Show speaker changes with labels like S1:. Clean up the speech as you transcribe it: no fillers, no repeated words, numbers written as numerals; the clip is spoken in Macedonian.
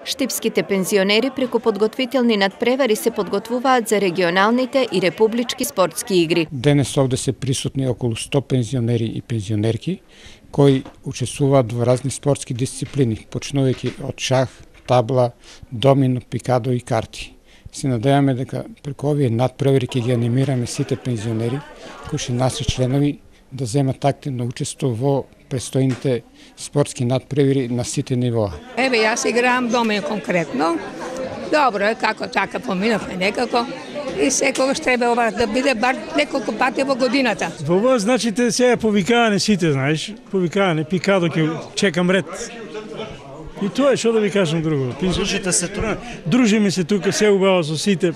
S1: Штипските пензионери преку подготвителни надпревари се подготвуваат за регионалните и републички спортски игри.
S2: Денес овде се присутни околу 100 пензионери и пензионерки кои учествуваат во разни спортски дисциплини, почнувајќи од шах, табла, домино, пикадо и карти. Се надеваме дека преку овие надпревари ќе ги анимираме сите пензионери кои се наши членови да земат активно учество во престојните спортски надпревари на сите нивоа.
S3: Еве, јас играм домино конкретно. Добро е, како така поминавме некако и секогаш треба ова да биде бар неколку пати во годината.
S4: Во ова значите сега повикаане сите, знаеш, повикаане, пикадо ќе чекам ред. И тоа е што да ви кажам друго.
S5: Дружите се тука?
S4: Дружиме се тука, се убаво со сите.